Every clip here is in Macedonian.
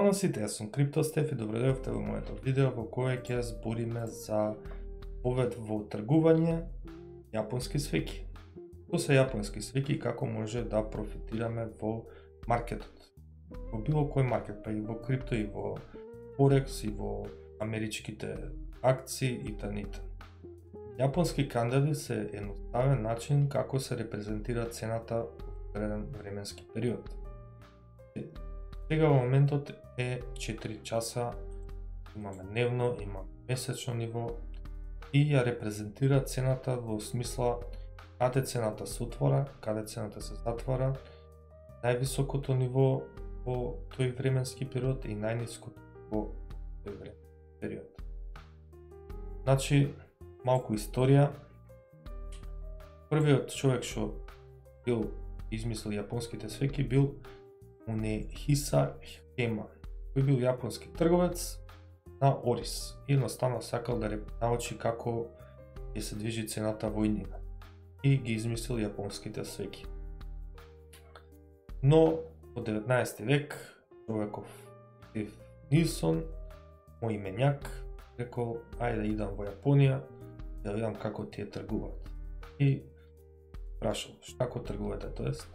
Здраво на сите, јас сум CryptoStef и добредојавте во моето видео во кое ќе збориме за повед во тргување јапонски свеќи. Што се јапонски свеќи и како може да профитираме во маркетот. Во било кој маркет, па и во крипто, и во Форекс, и во америчките акции и т.н. Јапонски кандели се едноставен начин како се репрезентира цената во одреден временски период. Сега во моментот е 4 часа, имаме дневно, имаме месечно ниво и ја репрезентира цената во смисла каде цената се отвора, каде цената се затвора, највисокото ниво во тој временски период и најниското во тој временски период. Значи, малку историја. Првиот човек што бил измислил јапонските свеќи бил Мунехиса Хема, кој бил јапонски трговец на ориз и едноставно сакал да научи како ќе се движи цената во иднина и ги измислил јапонските свеќи. Но во 19 век човеков Стив Нилсон, мој именјак, рекол ајде да идам во Јапонија да видам како тие тргуваат. И прашал како тргувате тоест?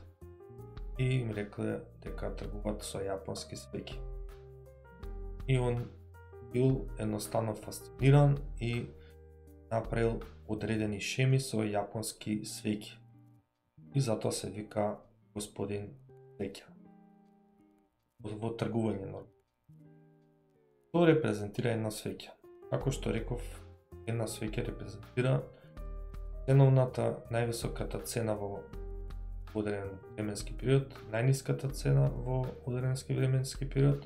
И им рекле дека тргуваат со јапонски свеќи. И он бил едноставно фасциниран и направил одредени шеми со јапонски свеќи. И затоа се вика господин свеќа. Во тргување нормално. Тоа репрезентира една свеќа. Како што реков, една свеќа репрезентира ценовната, највисоката цена во одреден временски период, најниската цена во одреден временски период,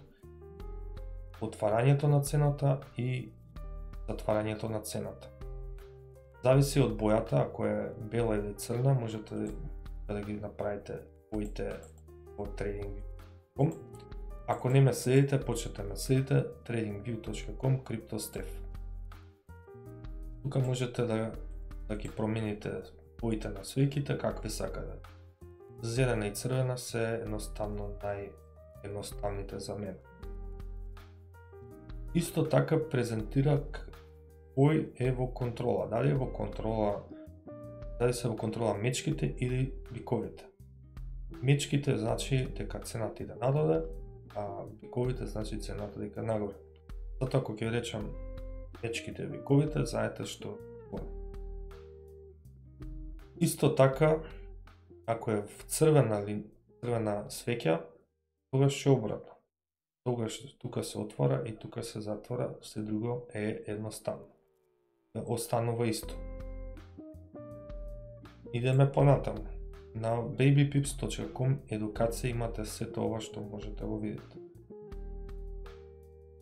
отварањето на цената и затварањето на цената. Зависи од бојата, ако е бела или црна, можете да ги направите боите во TradingView.com. Ако не ме следите, почнете ме следите TradingView.com CryptoStef. Тука можете да ги промените боите на свеќите какви сакате. Зелена и црвена се едноставно наједноставните за мене. Исто така презентира кој е во контрола, дали е во контрола, дали се во контрола мечките или биковите. Мечките значи дека цената иде надоле, а биковите значи цената дека нагоре. Затоа ако ќе речам мечките и биковите, знаете што е. Исто така, ако е в црвена свеќа, тогаш е обратно. Тогаш тука се отвора и тука се затвора, се друго е едноставно. Останува исто. Идеме понатаму. На babypips.com едукација имате сето ова што можете да го видите.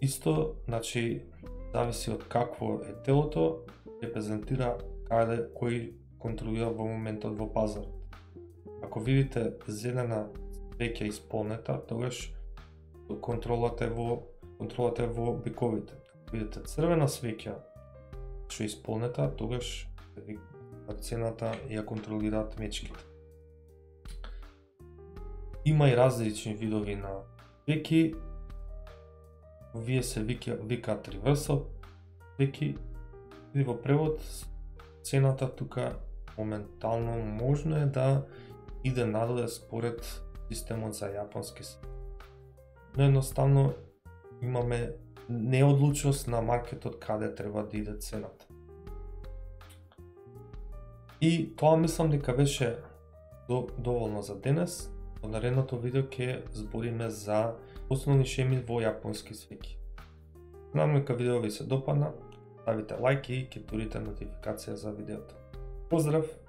Исто, значи, зависи од какво е телото, репрезентира кој контролира во моментот во пазарот. Ако видите зелена свеќа исполнета, тогаш контролата е во биковите. Ако видите црвена свеќа што е исполнета, тогаш цената ја контролираат мечките. Има и различни видови на свеќи. Вие се викаат reversal свеќи и во превод цената тука моментално можно е да иде надоле според системот за јапонски свеќи. Но едноставно имаме неодлучност на маркетот каде треба да иде цената. И тоа мислам дека беше доволно за денес. Во наредното видео ќе збориме за основни шеми во јапонски свеќи. Надам дека видео ви се допадна, ставите лајк и ќе турите нотификација за видеото. Поздрав!